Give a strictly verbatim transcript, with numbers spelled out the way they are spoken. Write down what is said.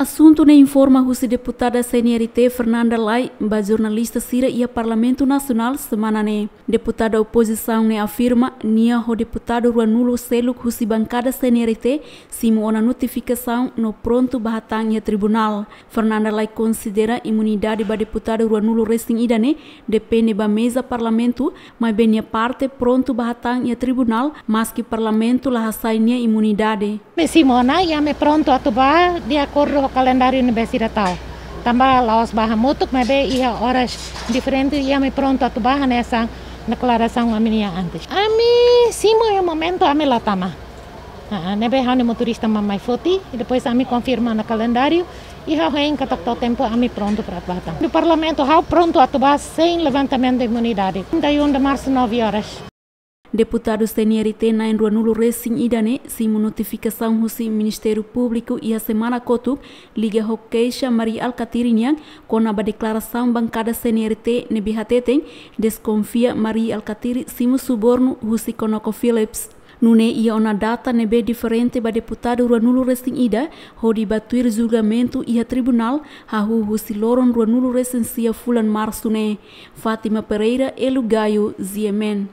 Asuntu ne'e informa husi deputada C N R T Fernanda Lay ba jornalista sira iha Parlamentu Nasionál semana ne'e. Deputada opozisaun ne'e afirma nia ho deputadu ruanulu seluk husi bankada C N R T simu ona notifikasaun no prontu ba hatán iha tribunál. Fernanda Lay konsidera imunidade ba deputadu ruanulu resin ida ne'e depende ba meza Parlamentu, maibé nia parte prontu ba hatán iha tribunál, maski Parlamentu la hasai nia imunidade. Ami simu ona, i ami prontu atu bá de akordu ho kalendáriu ne'ebé sira tau. Tanba la'ós bá hamutuk, maibé iha oras diferente, i ami prontu atu bá hanesan deklarasaun ami-nia antes. Ami simu iha momentu ami la tama. Ah, ne'ebé ha'u-nia motorista mak mai foti, i depois ami konfirma ona kalendáriu, i ha'u hein katak to'o tempu ami prontu para atu bá hatán. Iha Parlamentu ha'u prontu atu bá sein levantamentu de imunidade. Trinta e um de março, nove horas. Deputadu C N R T na'in ruanulu resin ida ne'e simu notifikasaun husi Ministériu Públiku iha semana kotuk liga ho keixa Mari Alkatiri nian kona-ba deklarasaun bankada C N R T ne'ebé hateten deskonfia Mari Alkatiri simu subornu husi ConocoPhillips. Nune'e iha ona data ne'ebé diferente ba deputadu ruanulu resin ida hodi bá tuir julgamentu iha tribunál hahú husi loron ruanulu resin sia fulan Marsu ne'e. Fátima Pereira, Elu Gayo, G M N.